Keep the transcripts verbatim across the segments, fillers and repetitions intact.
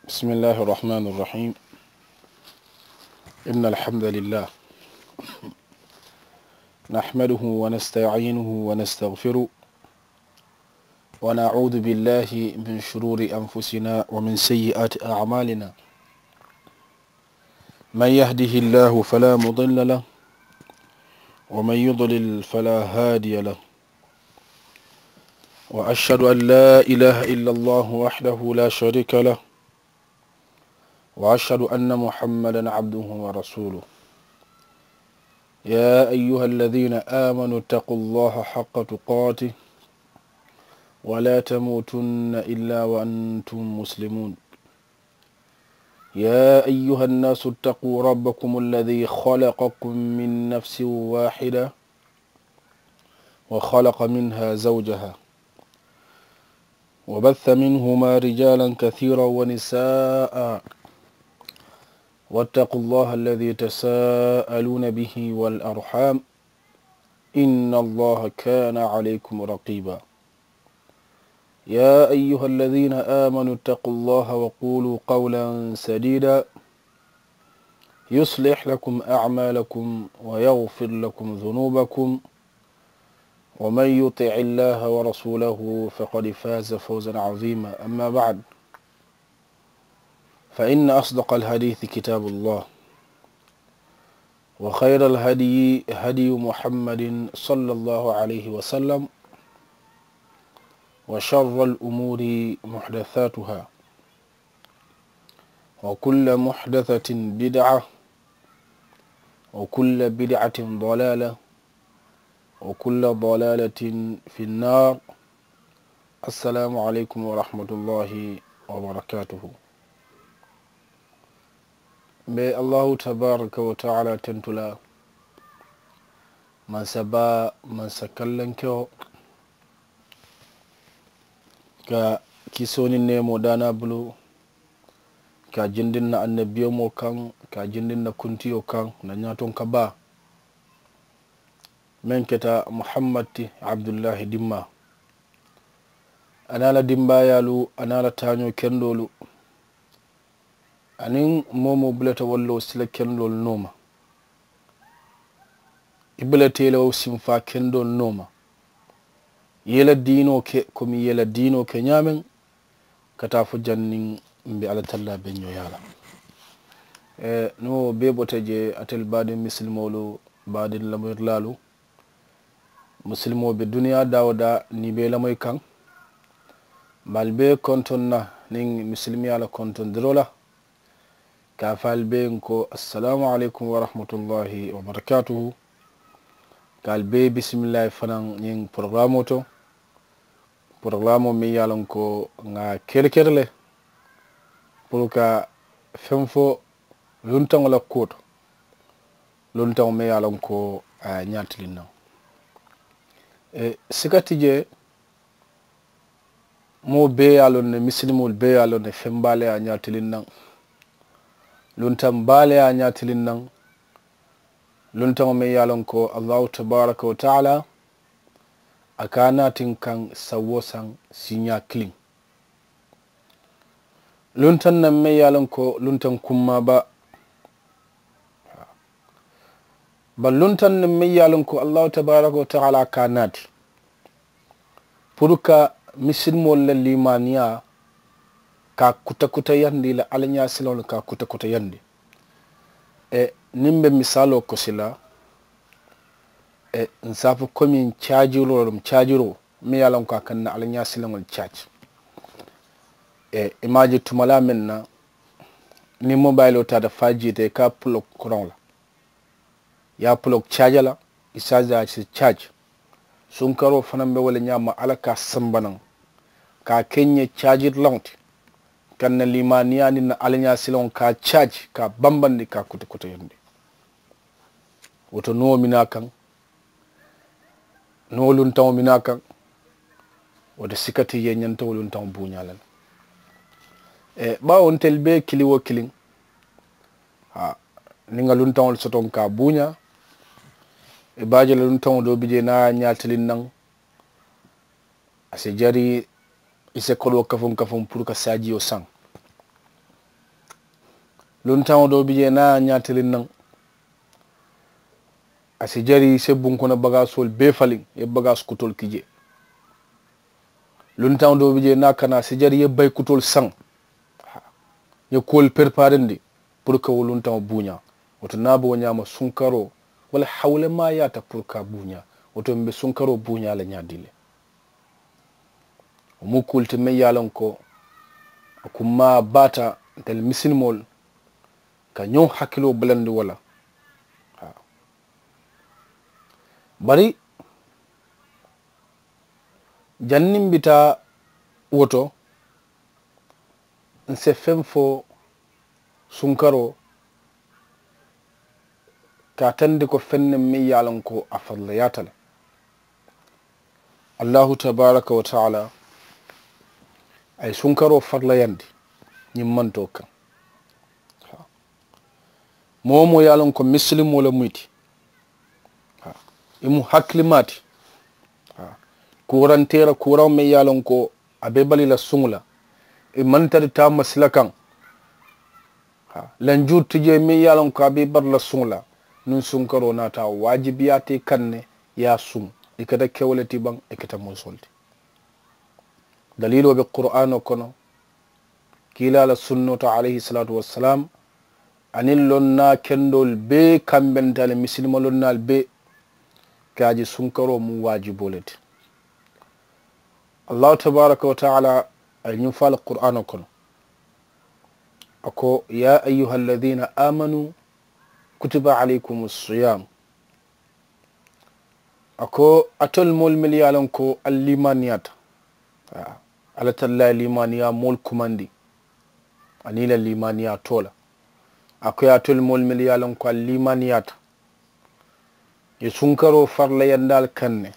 بسم الله الرحمن الرحيم. إن الحمد لله نحمده ونستعينه ونستغفره، ونعوذ بالله من شرور أنفسنا ومن سيئات أعمالنا. من يهده الله فلا مضل له، ومن يضلل فلا هادي له. وأشهد أن لا إله إلا الله وحده لا شريك له، وأشهد أن محمدا عبده ورسوله. يا أيها الذين آمنوا اتقوا الله حق تقاته ولا تموتن إلا وأنتم مسلمون. يا أيها الناس اتقوا ربكم الذي خلقكم من نفس واحدة وخلق منها زوجها وبث منهما رجالا كثيرا ونساء، واتقوا الله الذي تساءلون به والأرحام، إن الله كان عليكم رقيبا. يا أيها الذين آمنوا اتقوا الله وقولوا قولا سديدا، يصلح لكم أعمالكم ويغفر لكم ذنوبكم، ومن يطع الله ورسوله فقد فاز فوزا عظيما. أما بعد، فإن أصدق الحديث كتاب الله، وخير الهدي هدي محمد صلى الله عليه وسلم، وشر الأمور محدثاتها، وكل محدثة بدعة، وكل بدعة ضلالة، وكل ضلالة في النار. السلام عليكم ورحمة الله وبركاته. M̀ be Allahu tabaraka wa taala tentu la, mansa baa, mansa kallankewo, ka kisoo niŋ neemoo daanaa bulu, ka a jindinna annabiyomoo kaŋ, ka a jindinna kuntiyo kaŋ na ñaatonka baa. Meŋ keta muhammad ti, abdullahi dimmaa, aniŋ a la dimbaayaalu aniŋ a la taañoo kendoolu, aniŋ moo-wo-moo bulata walla wo sila kendoolu nooma, i bulata i la wo sinfaa kendoolu nooma, i ye i la diinoo ke komi i ye i la diinoo ke ñaameŋ, ka taa fo janniŋ m̀ be alla tallaa be ñooyaa la. Niŋ wo bee bota jee, alitelu baadiŋ misilimoolu, baadiŋ lamoyirilaalu, misilimoo be duniyaa daa-wo-daa niŋ i be i lamoyi kaŋ, m̀ be ali bee kontoŋ na niŋ misilimeyaa la kontondiroo la, ka a fo ali bee ye n ko, assalaamu aleykum warahmatullahi wabarakaatuhu. Ka ali bee bisimilaayi fanaa ñiŋ porogaraamoo to, porogaraamoo meŋ ye a loŋ ko ŋà a kere-kere le puru ka feŋ fo luntaŋo la kuwo to, luntaŋo meŋ ye a loŋ ko a ye a ñaatiliŋ naŋ. Sika ti jee, moo bee ye a loŋ ne, misilimoolu bee ye a loŋ ne, feŋ baa le ye a ñaatiliŋ naŋ, luntaŋ baa le ye a ñaatiliŋ naŋ. Luntaŋo meŋ ye a loŋ ko allahu tabaraka wa taala a ka a naati n kaŋ saŋ-wo-saŋ siiñaa kiliŋ. Luntaŋ naŋ meŋ ye a loŋ ko luntaŋ kummaa baa. Bari luntaŋ naŋ meŋ ye a loŋ ko allahu tabaraka wa taala a ka a naati puru ka misilimoolu la liimaaniyaa ka a kuta-kutayandi, i la alla ñaasilaŋolu ka a kuta-kutayandi. Niŋ m̀ be misaaloo kosi la, n si a fo komi caajiroo loŋ, caajiroo meŋ ye a loŋ ko a ka n na alla ñaasilaŋolu caaji. I maŋ a je tumalaa meŋ na, niŋ mobayiloo taata fo a jiita i ka a puloki kuraŋo la, i ye a puloki caaja la, i si a je a si caaji. Sunkaroo fanaa be wo le ñaama, alla ka a samba naŋ ka a ke n ye caajirilaŋo ti, ka n na liimaaniyaa niŋ n na alla ñaasilaŋo ka a caaji, ka a bambandi, ka a kuta-kutayandi. Wo to nuŋo minaa kaŋ, nuŋo luntaŋo minaa kaŋ, wo to sika ti jee ñanta wo luntaŋo buuñaa la le. Baawo ntelu bee kiliŋ-wo-kiliŋ, niŋ ŋà luntaŋolu soto n ka a buuñaa, i be a je la luntaŋo doo bi jee niŋ a ye a ñaatiliŋ naŋ, a si jari i si kodoo kafuŋ-kafuŋ puru ka saajiyo saŋ. Luntaŋo doo bi jee niŋ a ye a ñaatiliŋ naŋ, a si jari i si bunkono bagaasoolu bee faliŋ, i ye bagaasi kutoolu ki jee. Luntaŋo doo bi jee niŋ a kana, a si jari i ye bayi kutoolu saŋ, i ye kuwolu perepaarendi puru ka wo luntaŋo buuñaa. Wo to niŋ a be wo ñaama sunkaroo, wo le hawulemaayaata puru ka a buuñaa. Wo to m̀ be sunkaroo buuñaa la ñaadii le? Wo mu kuu le ti meŋ ye a loŋ ko a kummaa baata ntelu misilimoolu ka ñoŋ hakiloo bulandi wo la. Bari janniŋ m̀ bi taa wo to, ǹ si feŋ fo sunkaroo ka a tandi ko feŋ ne meŋ ye a loŋ ko a farilayaata le. Allaahu tabaaraka wa taala a ye sunkaroo farilayandi ñiŋ mantoo kaŋ. Moo-wo-moo ye a loŋ ko misilimoo le mu i ti, i mu hakilimaa ti, kuuranteera kuuraŋo meŋ ye a loŋ ko a be i bali la suŋo la, i maŋ tari taa masila kaŋ. Lanjuuri ti jee meŋ ye a loŋ ko a be i bari la suŋo la. Niŋ sunkaroo naata a waajibiyaata i kaŋ ne i ye a suŋ. I keta kewo le ti baŋ, i keta muusoo le ti. Daliiloo be quraanoo kono, kiilaa la sunnoo to alayhi salaatu wassalaamu, aniŋ lonnaa kendoolu bee kambenta le misilima lonnaalu bee ka a je sunkaroo mu waajiboo le ti. Allaahu tabaaraka wa taala a ye ñiŋ fo a la quraanoo kono, a ko yaa ayyuha alladina aamanu kutiba alaykumu siyaamu. A ko alitolu moolu mennu ye a loŋ ko ali liimaaniyaata, alla tallaa ye liimaaniyaa moolu kumandi aniŋ i la liimaaniyaa too la. A ko alitolu moolu mennu ye a loŋ ko ali liimaaniyaata, i ye sunkaroo farilayandi ali kaŋ ne.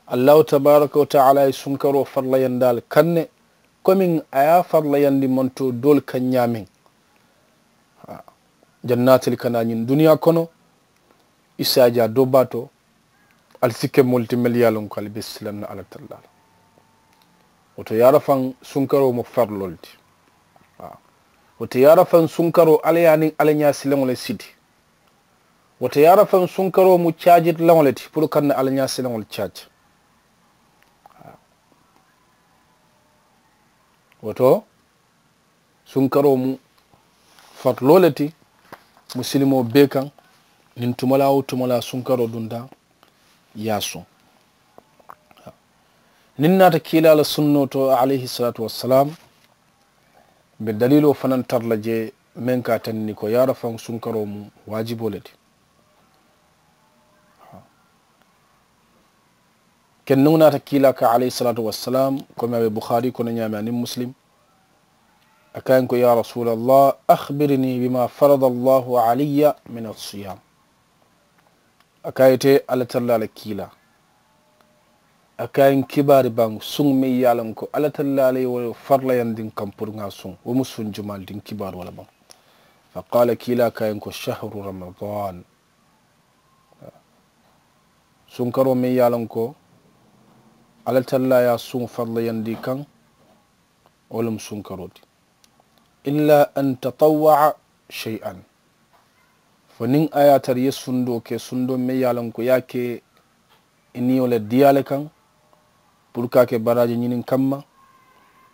Allaahu tabaaraka wa taala ye sunkaroo farilayandi ali kaŋ ne komiŋ a ye a farilayandi mantoo doolu kaŋ ñaameŋ. Jannaatili ka naa ñiŋ duniyaa kono, i si a je a doo baa to, ali si ke moolu ti mennu ye a loŋ ko ali be silaŋ na alla tallaa la. Wo to yaarafaŋ sunkaroo mu fariloo le ti. Wo to yaarafaŋ sunkaroo alla ye a niŋ alla ñaasilaŋo le siti. Wo to yaarafaŋ sunkaroo mu caajirilaŋo le ti puru kaŋ na alla ñaasilaŋo le caaji. Wo to sunkaroo mu fariloo le ti musilimoo bee kaŋ. Niŋ tumalaa woo tumalaa sunkaroo dunta i ye a suŋ. Niŋ naata kiilaa la sunnoo to alayhi salaatu wassalaamu, m̀ be daliiloo fanaŋ tara la jee meŋ ka a tandi ko yaarafaŋ sunkaroo mu waajiboo le ti. Kennuŋo naata kiilaa ka alayhi salaatu wassalaamu komi a be bukhaari kono ñaami aniŋ musilimu. A ka a ye ko yaa rasuula allah, akhbirnii bimaa farada allahu alayya min alsiyaam. A ka a ye ite alla tallaa la kiilaa, a ka a ye n kibaari baŋ suŋ meŋ ye a loŋ ko alla tallaa la ye wo farilayandi n kaŋ puru ŋa a suŋ wo mu suŋ jumaa le ti n kibaari wo la baŋ? Fa qaala kiilaa ka a ye ko shahru ramadaan. Sunkaroo meŋ ye a loŋ ko alla tallaa ye a suŋ farilayandi i kaŋ, wo le mu sunkaroo ti. Illa an tatawwaa shay'an, fo niŋ a ye a tara i ye sundoo ke sundoo meŋ ye a loŋ ko i ye a ke i niyo le diyaa le kaŋ puru ka a ke baraaji ñiniŋ kamma.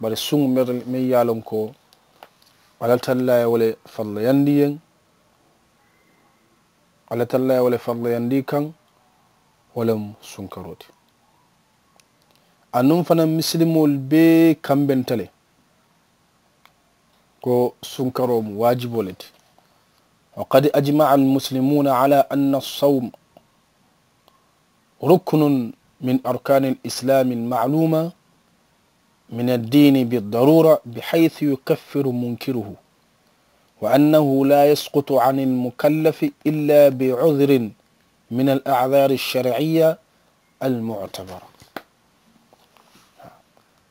Bari suŋ meŋ ye a loŋ ko alla tallaa ye wo le farilayandi i ye, alla tallaa ye wo le farilayandi i kaŋ, wo le mu sunkaroo ti. Anuŋ fanaŋ misilimoolu bee kambenta le ko sunkaroo mu waajiboo le ti. Wa qad ajmaca almuslimuuna ala anna alsawm ruknun min arkaani alislaami almacluuma min addiini biddaruura bixaysu yukaffiru munkiruhu, wa annahu laa yasqutu can almukallafi illa bicudrin min alacdaari alsharciya almuctabara.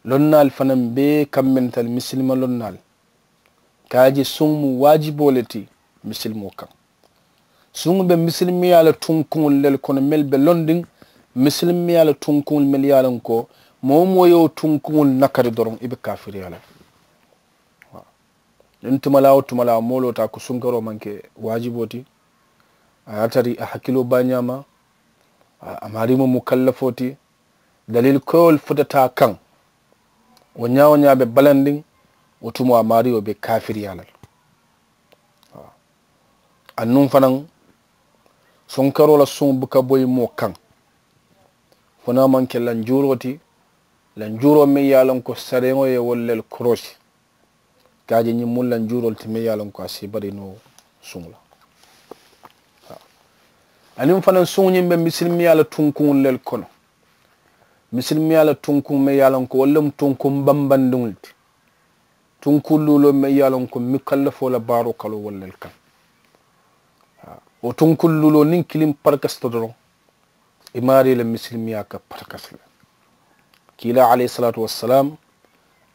Lonnaalu fanaŋ bee kambenta le misilima lonnaalu ka a je suŋ mu waajiboo le ti misilimoo kaŋ. Suŋo be misilimiyaa la tunkuŋolu le kono mennu be londiŋ, misilimiyaa la tunkuŋolu mennu ye a loŋ ko moo-wo-moo ye wo tunkuŋolu nakari doroŋ i be kaafiriyaa la. Niŋ tumalaa wo tumalaa moo loota a ko sunkaroo maŋ ke waajiboo ti, a ye a tari a hakiloo baa ñaama. A maariimoo mu kallafoo ti. Daliili koyoo le futata a kaŋ. Wo ñaa wo ñaa be balandiŋ, wo tumoo a maario be kaafiriyaa la le. Anuŋ fanaŋ sunkaroo la suŋo buka boyi moo kaŋ. Fo naa maŋ ke lanjuuroo ti. Lanjuuroo meŋ ye a loŋ ko sariyaŋo ye wolu le koroosi. Ka a je ñiŋ mu lanjuuroo le ti meŋ ye a loŋ ko a si i bari noo suŋo la. Aniŋ fanaŋ suŋo ñiŋ be misilimiyaa la tunkuŋolu le kono. Misilimiyaa la tunkuŋ meŋ ye a loŋ ko wolu le mu tunkuŋ bambandiŋolu ti. Tunkuŋ luuloo meŋ ye a loŋ ko mukallafoo la baaroo ka loo wolu le kaŋ. Wo tunkuŋ luuloo niŋ kiliŋ parakasita doroŋ, i maarii la misilimiyaa ka parakasi le. Kiilaa alayhi salaatu wassalaamu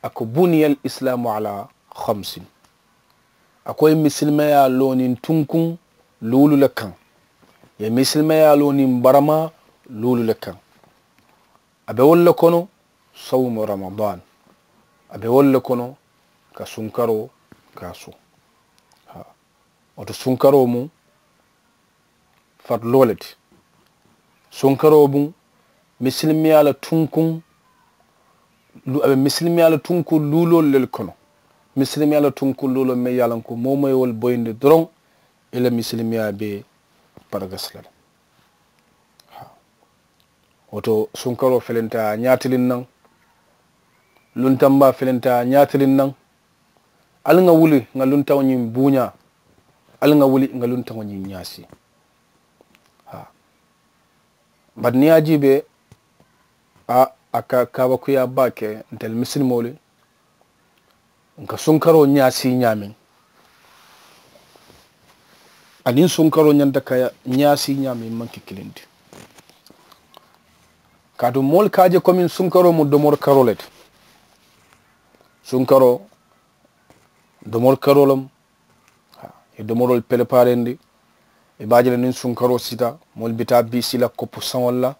a ko buniyal islaamu alaa xamsin. A ko i ye misilimeyaa loo niŋ tunkuŋ luulu le kaŋ. I ye misilimeyaa loo niŋ baramaa luulu le kaŋ. A be wolu le kono sawmu ramadan. A be wolu le kono ka sunkaroo ka a soo. Wo to sunkaroo mu fariloo le ti. Sunkaroo mu misilimiyaa la tunkuŋ. A be misilimiyaa la tunkuŋ luuloolu le kono. Misilimiyaa la tunkuŋ luuloolu meŋ ye a loŋ ko moo wo moo ye wolu boyindi doroŋ i la misilimiyaa be paragasi la le. Wo to sunkaroo felenta a ñaatiliŋ naŋ. Luntambaa felenta a ñaatiliŋ naŋ. Ali ŋa wuli ŋa luntaŋo ñiŋ buuñaa. Ali ŋa wuli ŋa luntaŋo ñiŋ ñaasi. Bari niŋ i ye a jiibee a a ka kaabakuyaa baake ntelu misilimoolu. Nka sunkaroo ñaasii ñaameŋ aniŋ sunkaroo ñanta ka ñaasii ñaameŋ maŋ ke kiliŋ ti. Kaatu moolu ka a je komiŋ sunkaroo mu domori karoo le ti. Sunkaroo domori karoo le mu. I ye domoroolu pelepaarendi. I be a je la niŋ sunkaroo sita moolu bi taa biisii la koppu saŋolu la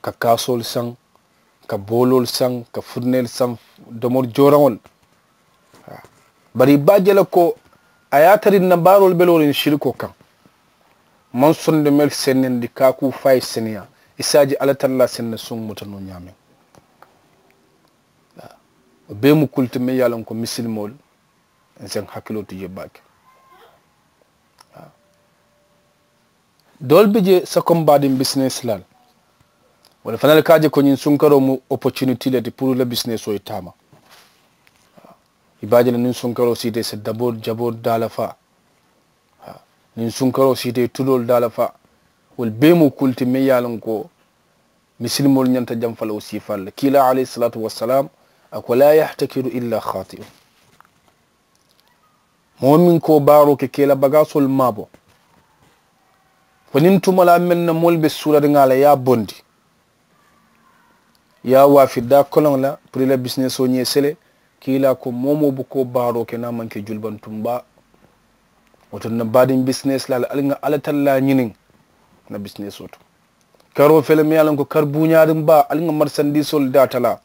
ka kaasoolu saŋ, ka booloolu saŋ, ka furineelu saŋ, domori jooraŋolu. Bari i be a je la ko a ye a tara i na baaroolu be looriŋ sirikoo kaŋ. Maŋ sondomeelu sennendi kaakuu fo a ye seneyaa. I si a je alla tallaa si na suŋ muta noo ñaameŋ. Wo bee mu kulu ti meŋ ye a loŋ ko misilimoolu nse n hakiloo tu jee baake. Doolu bi jee sakombaadiŋ bisinesi laalu. Walla fanaa le ka a je ko ñiŋ sunkaroo mu opotuniti le ti puru la bisinesoo ye taama. I be a je la niŋ sunkaroo siita i si daboo jaboo daalafaa. Niŋ sunkaroo siita i tuloolu daalafaa. Wolu bee mu kulu ti meŋ ye a loŋ ko misilimoolu ñanta jamfa la wo siifaalu le kiilaa alayhi salaatu wassalaamu. A ko laa yahtakiru illa xaati'u. Moo meŋ ka wo baaroo ke ka i la bagaasoolu maabo. Fo niŋ tumalaa meŋ na moolu be suulariŋ a la i ye a bondi i ye a waafi daa koloŋo la puru i la bisinesoo ñee sele. Kiilaa ko moo-wo-moo buka wo baaroo ke niŋ a maŋ ke julibantuŋ baa. Wo to n na baadiŋ bisinesi laalu ali ŋa alla tallaa ñiniŋ n na bisinesoo to. Karoo fele meŋ ye a loŋ ko kari buuñaariŋ baa ali ŋa marisandiisoolu daatalaa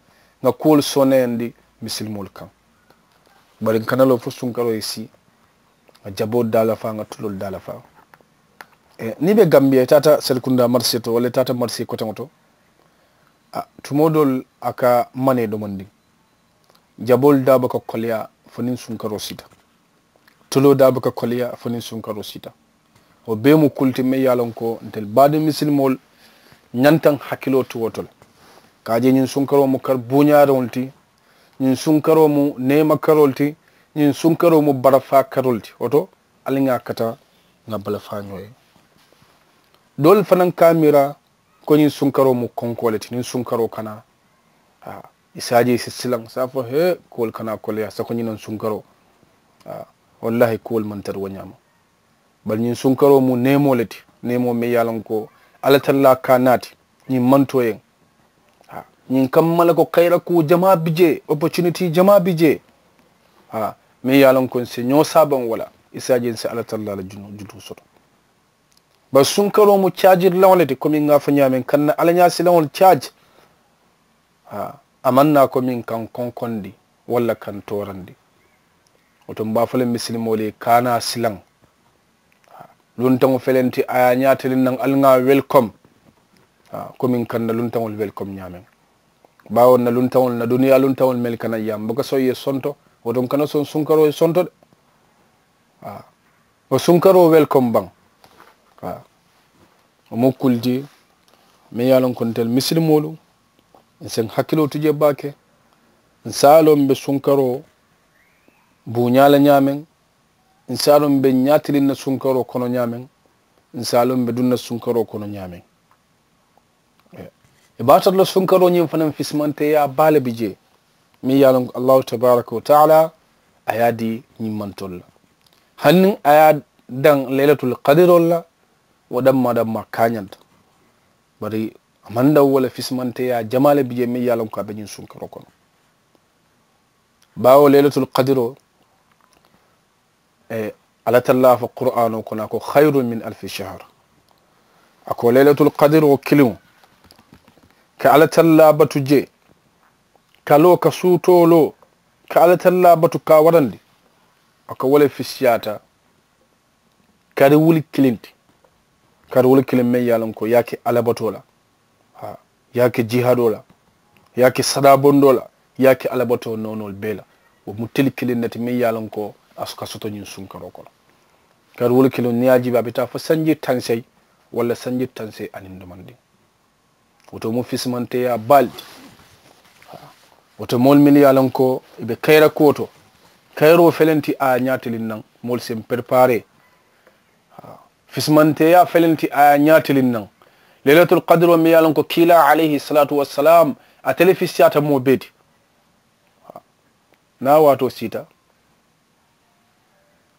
ŋa kuwolu sooneyandi misilimoolu kaŋ. Bari n kana loo fo sunkaroo ye sii ŋa jaboo daalafaa ŋa tuloolu daalafaa. Niŋ i be gambiya i taata selikundaa marisee to walla i taata marisee koteŋo to. Tumoo doolu a ka manee domondiŋ. Jaboolu daa buka koleyaa fo niŋ sunkaroo siita. Tuloo daa buka koleyaa fo niŋ sunkaroo siita. Wo bee mu kulu ti meŋ ye a loŋ ko ntelu baadiŋ misilimoolu ñanta n hakiloo ti wo to le. Ka a je ñiŋ sunkaroo mu kari buuñaariŋo le ti. Ñiŋ sunkaroo mu neema karoo le ti. Ñiŋ sunkaroo mu barafaa karoo le ti wo to ali ŋa a kata ŋa balafaa ñoo ye. Doolu fanaŋ ka a miira ko ñiŋ sunkaroo mu konkoo le ti niŋ sunkaroo kana. I si a je i si silaŋ i si a fo hee kuwolu kana koleyaa sako ñiŋ noŋ sunkaroo. Wallaahi kuwolu maŋ tara wo ñaama. Bari ñiŋ sunkaroo mu neemoo le ti neemoo meŋ ye a loŋ ko alla tallaa ka a naati ñiŋ mantoo yeŋ. Ñiŋ kamma le ko kayira kuu jamaa bi jee opotuniti jamaa bi jee. Meŋ ye a loŋ ko n si ñoo saabaŋ wo la i si a je n si alla tallaa la jutuu soto. Bari sunkaroo mu caajirilaŋo le ti komi ŋa a fo ñaameŋ ka n na alla ñaasilaŋolu caaji. A maŋ naa komi n ka n konkondi walla ka n toorandi. Wo to m̀ be a fo le misilimoolu ye kaana silaŋ. Luntaŋo felenti a ye a ñaatiliŋ naŋ ali ŋa welcome. Komi n kanna luntaŋolu welcome ñaameŋ. Baawo n na luntaŋolu n na duniyaa luntaŋolu melu kana yaŋ m̀ buka soŋ ye sonto. Wo to n kana soŋ sunkaroo ye sonto de. Wo sunkaroo welcome baŋ. Wo mu kuli ti meŋ ye a loŋ ko ntelu misilimoolu, n se n hakiloo tu jee baake. N se a loŋ m̀ be sunkaroo buuñaa la ñaameŋ. N se a loŋ m̀ be ñaatiliŋ na sunkaroo kono ñaameŋ. N se a loŋ m̀ be duŋ na sunkaroo kono ñaameŋ. I be a tara la sunkaroo ñiŋ fanaŋ fisimanteeyaa baa le bi jee. Meŋ ye a loŋ ko allahu tabaaraka wa taala a ye a dii ñiŋ mantoolu la. Hani a ye a daŋ leelatul kadiroolu la. Wo dammaa dammaa kaañanta. Bari a maŋ daŋ wo le fisimanteeyaa jamaa le bi jee meŋ ye a loŋ ko a be ñiŋ sunkaroo kono. Baawo leelatul kadiroo alla tallaa fo quraanoo kono a ko khayrun min alfi shahar. A ko leelatul kadiroo kiliŋo ka alla tallaa batu jee. Ka loo ka suutoo loo ka alla tallaa batu ka a warandi. A ko wo le fisiyaata kari wuli kiliŋ ti. Kari wuli kiliŋ meŋ ye a loŋ ko i ye a ke alla batoo la. Haa i ye a ke jihaadoo la. I ye a ke sadaabondoo la. I ye a ke alla batoo noonoolu bee la. Wo mu tili kiliŋ ne ti meŋ ye a loŋ ko a ka soto ñiŋ sunkaroo kono. Kari wuli kiliŋ niŋ i ye a jiibi a be taa fo sanji taŋ seyi walla sanji taŋ seyi aniŋ domandiŋ. Wo to mu fisimanteeyaa baa le ti. Wo to moolu mennu ye a loŋ ko i be kayira kuwo to. Kayiroo felenti a ye a ñaatiliŋ naŋ moolu se m perepaaree. Fisimanteeyaa felenti a ye a ñaatiliŋ naŋ. Leelatul kadiroo meŋ ye a loŋ ko kiilaa alayhi salaatu wassalaamu ate le fisiyaata moo bee ti. Niŋ a waatoo siita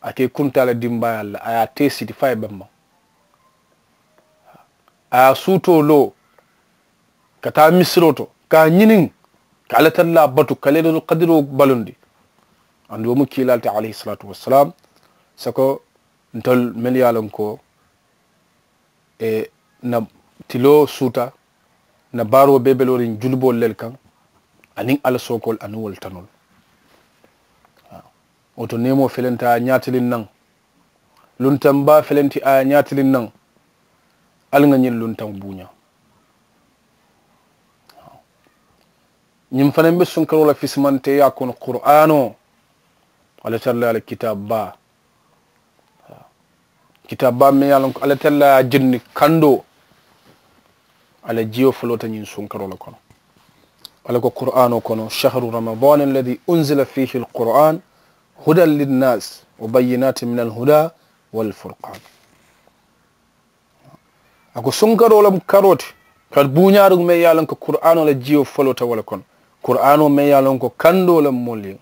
a ka i kuntaa le dimbaayaalu la a ye a tee siti fo a ye bambaŋ. A ye a suutoo loo ka taa misiroo to ka a ñiniŋ ka alla tallaa batu ka leelatul kadiroo balundi. Aduŋ wo mu kiilaa le ti alayhi salaatu wassalaamu. Soko ntolu mennu ye a loŋ ko ì na tiloo suuta ì na baaroo bee be looriŋ juliboolu le kaŋ aniŋ alla sookoolu aniŋ wolu tanoolu. Wo to neemoo felenti a ye a ñaatiliŋ naŋ. Luntaŋ baa felenti a ye a ñaatiliŋ naŋ. Ali ŋa ñiŋ luntaŋ buuñaa. Ñiŋ fanaŋ be sunkaroo la fisimanteeyaa kono quraanoo. Alla tallaa la kitaabu baa. Kitaabu baa meŋ ye a loŋ ko alla tallaa ye a jindi kandoo. A la jiyo foloota ñiŋ sunkaroo le kono. Alla ko quraanoo kono shahru ramadani alladi unzila fihi alquran hudan linnas wa bayyinati min alhuda walfurqan. A ko sunkaroo le mu karoo ti. Kadi buuñaariŋo meŋ ye a loŋ ko quraanoo la jiyo foloota wo le kono. Quraanoo meŋ ye a loŋ ko kandoo le mu moolu ye.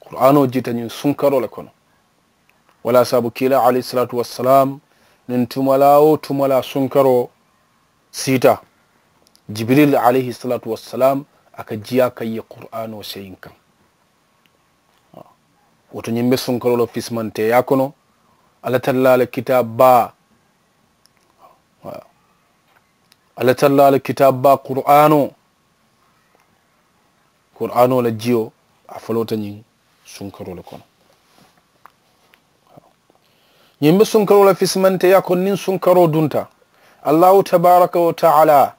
Quraanoo jiita ñiŋ sunkaroo le kono. Wo le ye a saabu kiilaa alayhi salaatu wassalaamu niŋ tumalaa wo tumalaa sunkaroo siita jibiriil alayhi salaatu wassalaamu a ka jiyaa ka ye quraanoo seyiŋ kaŋ. Wo to ñiŋ be sunkaroo la fisimanteeyaa kono. Alla tallaa la kitaabu baa. Alla tallaa la kitaabu baa quraanoo. Quraanoo la jiyo a foloota ñiŋ sunkaroo le kono. Ñiŋ be sunkaroo la fisimanteeyaa kono niŋ sunkaroo dunta allahu tabaaraka wa taala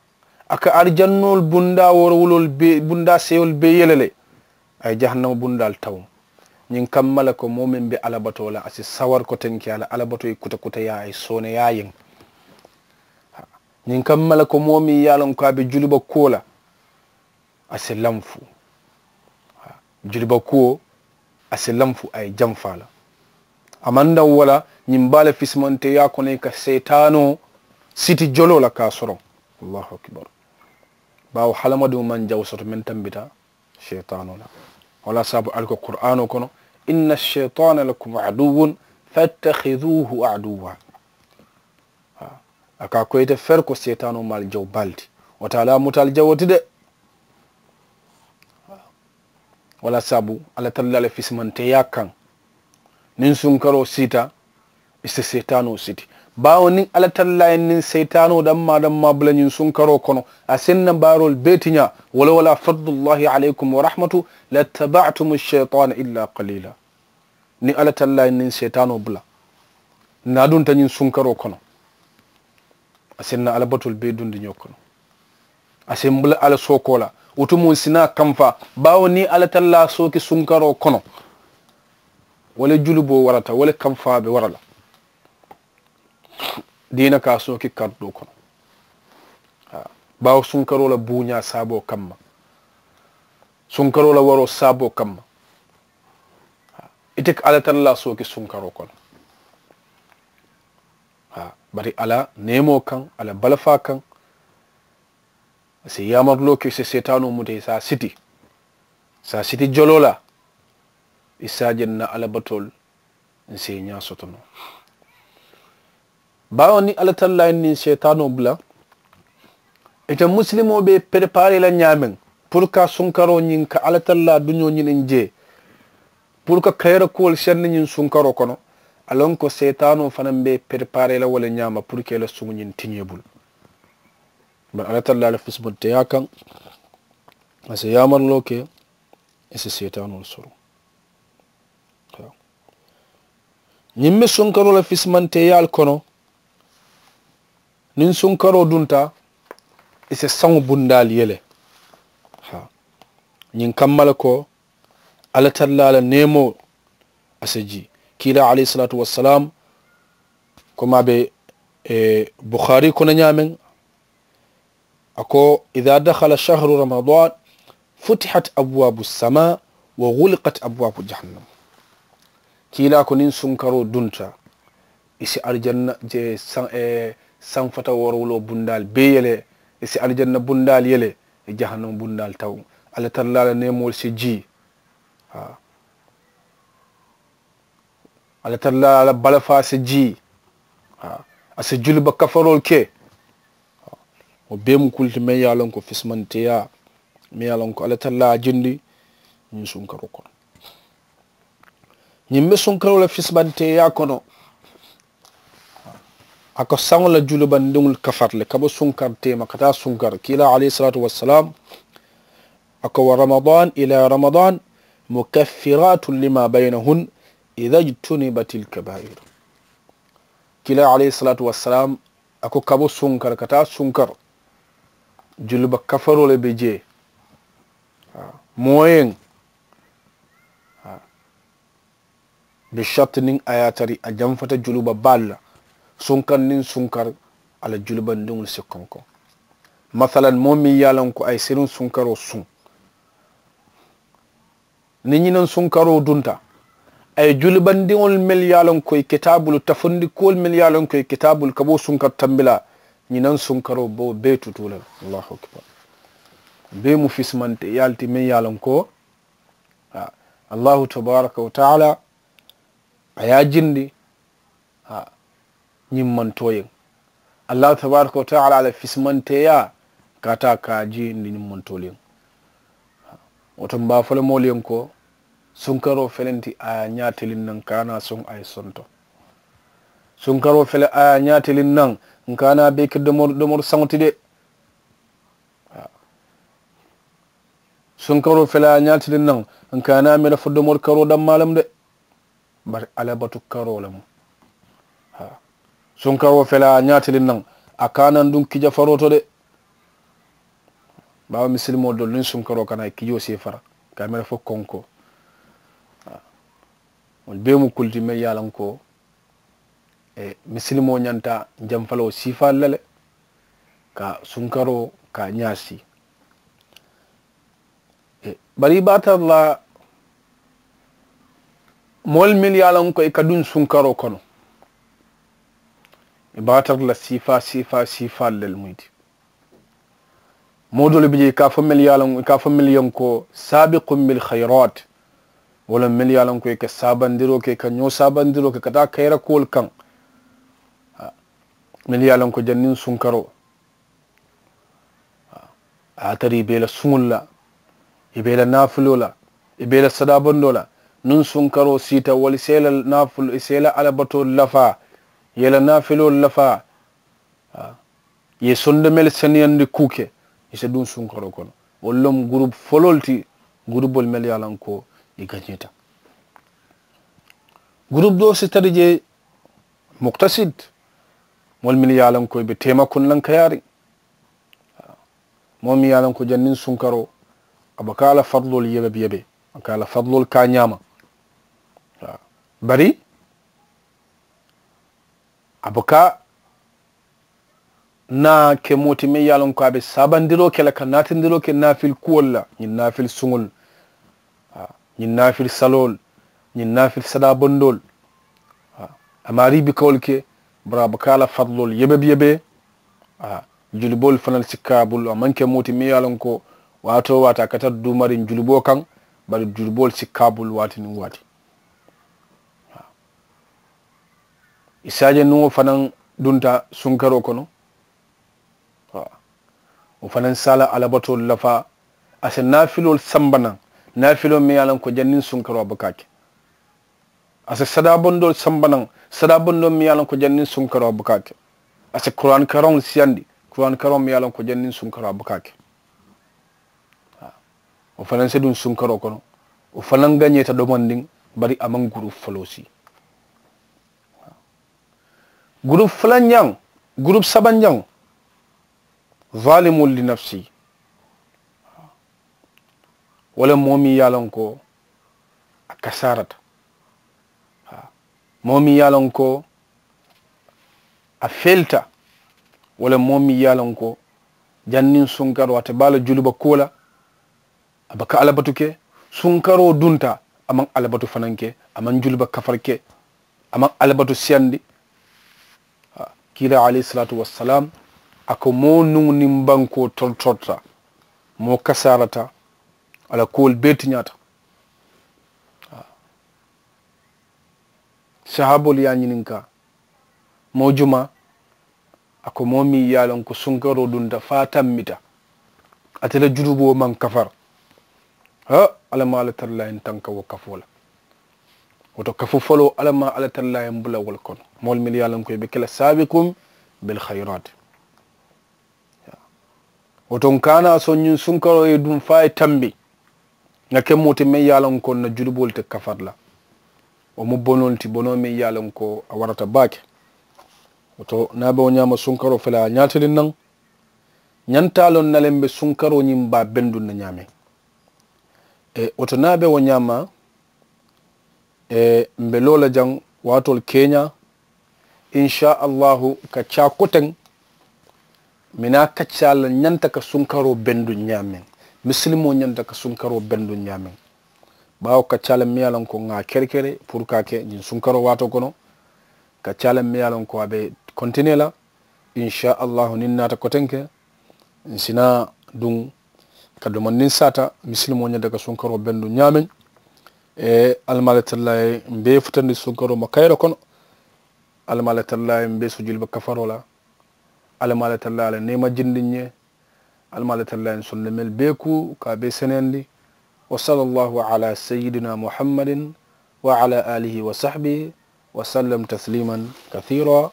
a ka arijannoolu bundaa woorowuloolu bee bundaa seyoolu bee yele le. A ye jahannama bundaalu tawuŋ. Ñiŋ kamma le ko moo meŋ be alla batoo la a si sawari kotenkeyaa la alla batoo ye kuta kuta yaa a ye sooneyaa yeŋ. Ñiŋ kamma le ko moo meŋ ye a loŋ ko a be juliba kuwo la a si lanfu. Juliba kuwo a si lanfu a ye jamfaa la. A maŋ daŋ wo la ñiŋ baa le fisimanteeyaa kono i ka seetaanoo siti joloo la ka a soroŋ. Allahu akibaru. Baawo hadamadiŋo maŋ jawo soto meŋ tambita seetaanoo la. Wo le ye a saabu ali ko quraanoo kono inna aseetaana lakum aduwun fattahiduhu aduwa. A ka a ko ite feri ko seetaanoo mu ali jawo baa le ti. Wo te ali a muta ali jawo ti de. Wo le ye a saabu alla tallaa la fisimanteeyaa kaŋ niŋ sunkaroo siita i si seetaanoo siti. Baawo niŋ alla tallaa ye niŋ seyitaanoo dammaa dammaa bula ñiŋ sunkaroo kono, a si nna baaroolu bee tiñaa. Wala wala fadlullahi alaykum wa rahmatu, lattaba'tumu shaytaana illa qalila. Niŋ alla tallaa ye niŋ seyitaanoo bula, niŋ a dunta ñiŋ sunkaroo kono, a si nna alla batoolu bee dundi ñoo kono. A si mbula alla sookoo la. Wo tumoo n si naa kamfaa. Baawo niŋ alla tallaa sooki sunkaroo kono, wo le juluboo warata, wo le kamfaa be wara la. Diina ka a sooki karidoo kono. Baawo sunkaroo la buuñaa saaboo kamma, sunkaroo la waroo saaboo kamma, ite ka alla tallaa sooki sunkaroo kono. Bari alla neemoo kaŋ, alla balafaa kaŋ, a si yaamaruloo ke i si seetaanoo muta i si a siti, i si a siti joloo la, i si a je n na alla batoolu n si i ñaa soto noo. Baawo niŋ alla tallaa ye niŋ seetaanoo bula, ite musilimoo be i perepaaree la ñaameŋ puru ka sunkaroo ñiŋ ka alla tallaa duñoo ñiniŋ jee, puru ka kayira kuwolu sendi ñiŋ sunkaroo kono, a loŋ ko seetaanoo fanaŋ be i perepaaree la wo le ñaama puru ka i la suŋo ñiŋ tiñee bulu. Bari alla tallaa la fisimanteeyaa kaŋ, a si yaamaruloo ke i si seetaanoolu soro. Ñiŋ be sunkaroo la fisimanteeyaalu kono, niŋ sunkaroo dunta, i si saŋo bundaalu yele. Ñiŋ kamma le ko alla tallaa la neemoo, a si jii. Kiilaa alayhi salaatu wassalaamu, komaa be buxaari kono ñaameŋ, a ko, idaa daxala shahru ramadan, futihat abwaabu samaa, wa guliqat abwaabu jahannam. Kiilaa ko niŋ sunkaroo dunta, i si alijanna je sanfata woorowuloo bundaalu bee yele, i si alijanna bundaalu yele, i jahannama bundaalu taw. Alla tallaa la neemoolu si jii. Alla tallaa la balafaa si jii. A si juliba kafaroolu ke. Wo bee mu kulu ti meŋ ye a loŋ ko fisimanteeyaa, meŋ ye a loŋ ko alla tallaa a jindi ñiŋ sunkaroo kono. Ñiŋ be sunkaroo la fisimanteeyaa kono, a ko saŋo la julibandiŋolu kafari le ka bo sunkari teema ka taa sunkari. Kiilaa alayhi salaatu wassalaamu, a ko wa ramadan ila ramadan, mukaffiratun lima baynahun, idha jtunibatil kabair. Kiilaa alayhi salaatu wassalaamu, a ko ka bo sunkari ka taa sunkari, juliba kafaroo le be jee. Moo yeŋ, be sariti niŋ a ye a tari a jamfata juliba baalu la, sunkari niŋ sunkari, a la julibandiŋolu si konkoŋ. Masalan, moo meŋ ye a loŋ ko a ye siriŋ sunkaroo suŋ, niŋ ñinaŋ sunkaroo dunta, a ye julibandiŋolu mennu ye a loŋ ko i kitaabulu tafundikuwolu mennu ye a loŋ ko i kitaabulu ka bo sunkari tambilaa, ñinaŋ sunkaroo be wo bee tutuu le la. Allahu akibar. Bee mu fisimanteeyaa le ti meŋ ye a loŋ ko, allahu tabaraka wa taala a ye a jindi. Ñiŋ maŋ tooyeŋ. Allahu tabaraka wa taala la fisimanteeyaa ka a taa ka a jindi ñiŋ maŋ tooyeŋ. Wo to m̀ be a fo le moolu yeŋ ko, sunkaroo felenti a ye a ñaatiliŋ naŋ ka a naa soŋ a ye sonto. Sunkaroo fele a ye a ñaatiliŋ naŋ, n ka a naa be ke domoru domoru saŋo ti de. Sunkaroo fele a ye a ñaatiliŋ naŋ, n ka a naa mira fo domoru karoo dammaa lemu de. Bari alla batu karoo lemu. Sunkaroo fele a ye a ñaatiliŋ naŋ, a ka a naa duŋ kija faroo to de. Baawo misilimoo doolu niŋ sunkaroo ka naa i kijoo si i fara ka a mira fo konkoo. Wolu bee mu kulu ti meŋ ye a loŋ ko, misilimoo ñanta jamfaloo siifaalu la le, ka sunkaroo ka a ñaasi. Bari i be a tara la moolu mennu ye a loŋ ko i ka duŋ sunkaroo kono, i be a tara la siifaa siifaa siifaalu le mu i ti. Moo doolu bi jee i ka a fo mennu ye a loŋ i ka a fo mennu ye ko saabikum bil khayraat. Wo le mennu ye a loŋ ko i ka saabandiroo ke i ka ñoo saabandiroo ke ka taa kayira kuwolu kaŋ. Mennu ye a loŋ ko janniŋ sunkaroo a ye a tara i be i la suŋolu la, i be i la naafuloo la, i be i la sadaabandoo la, niŋ sunkaroo siita wolu i si i la naafuloo i si i la alla batoolu lafaa. ye i la naafiloolu lafaa, haa, i ye sondomelu seneyandi kuu ke, i si duŋ sunkaroo kono. Wolu le mu gurupu foloolu ti, gurupoolu mennu ye a loŋ ko i gañeeta. Gurupu doo si tara jee, mukutasid, moolu mennu ye a loŋ ko i be teema kundaŋ kayaariŋ. Moo meŋ ye a loŋ ko janniŋ sunkaroo, a buka a la fariloolu yebe yebe, a ka a la fariloolu ke a ñaama. Bari a buka naa ke moo ti meŋ ye a loŋ ko a be saabandiroo ke la ka naatindiroo ke naafili kuwolu la, ñiŋ naafili suŋolu, ñiŋ naafili saloolu, ñiŋ naafili sadaa bondoolu, a maarii buka wolu ke. Bari a buka a la fariloolu yebe yebe. Juliboolu fanaa si ka a bulu, a maŋ ke moo ti meŋ ye a loŋ ko waati woo waati a ka tara duumariŋ juliboo kaŋ, bari juliboolu si ka a bulu waati niŋ waati. I si a je niŋ wo fanaa dunta sunkaroo kono, wo fanaa si a la alabatoolu lafaa. A si naafiloolu samba naŋ, naafiloo meŋ ye a loŋ ko janniŋ sunkaroo a buka a ke. A si sadaa bondoolu samba naŋ, sadaa bondoo meŋ ye a loŋ ko janniŋ sunkaroo a buka a ke. A si kuraani karaŋolu siyandi, kuraani karaŋo meŋ ye a loŋ ko janniŋ sunkaroo a buka a ke. Wo fanaa si duŋ sunkaroo kono, wo fanaa gañeeta domandiŋ. Bari a maŋ gurupu foloo sii. Gurupu fulanjaŋ, gurupu sabanjaŋ, zalimun li nafsi, wo le moo meŋ ye a loŋ ko a kasaarata, moo meŋ ye a loŋ ko a felita, wo le moo meŋ ye a loŋ ko janniŋ sunkaroo a te baa la juliba kuwo la. A buka alabatu ke, sunkaroo dunta, a maŋ alabatu fanaa ke, a maŋ juliba kafari ke, a maŋ alabatu siyandi. Kiilaa alayhi salaatu wassalaamu a ko moo nuŋ niŋ bankoo tortorta, moo kasaarata, a la kuwolu bee tiñaata. Sahaaboolu ye a ñininkaa, moo jumaa? A ko moo meŋ ye a loŋ ko sunkaroo dunta fo a tambita, ate la junuboo maŋ kafari. Haa, alla maŋ a la tara laa ye n tanka wo kafoo la. Wo to kafu foloo alla maŋ a la tara laa ye n bula wo le kono. Moolu mennu ye a loŋ ko i be ke la saabikum bil khayiraati. Wo to n ka a naa soŋ ñiŋ sunkaroo ye duŋ fo a ye tambi, ŋa ke moo ti meŋ ye a loŋ ko n na junuboolu te kafari la. Wo mu bonoo le ti bonoo meŋ ye a loŋ ko a warata baake. Wo to niŋ a be wo ñaama sunkaroo fele a ye a ñaatiliŋ naŋ, ñanta a loŋ na le m be sunkaroo ñiŋ baa benduŋ na ñaameŋ. Wo to niŋ a be wo ñaama, m be loo la jaŋ waatoolu keeñaa. Insa allahu ka caa koteŋ, mi naa kaccaa la ñanta ka sunkaroo benduŋ ñaameŋ, misilimoo ñanta ka sunkaroo benduŋ ñaameŋ. Baawo kaccaa la miŋ ye a loŋ ko ŋa a kerekere puru ka a ke ñiŋ sunkaroo waatoo kono, kaccaa la miŋ ye a loŋ ko a be kontinee la. Insa allahu niŋ n naata kotenke, n si naa duŋ ka domandiŋ saata misilimoo ñanta ka sunkaroo benduŋ ñaameŋ. Alla maŋ a la tara laa ye m bee futandi sunkaroo ma kayiroo kono. Alla maŋ a la tara laa ye m bee sujuli be kafaroo la. Alla maŋ a la tara laa ye a la neema jindi n ye. Alla maŋ a la tara laa ye n sondomelu bee kuu ka a bee seneyandi. Wa salla allahu ala sayidina muhammadin wa ala alihi wa sahbihi wa sallam tasliman kathira.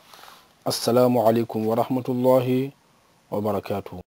Assalaamu alaykum wa rahmatullahi wa barakaatuhu.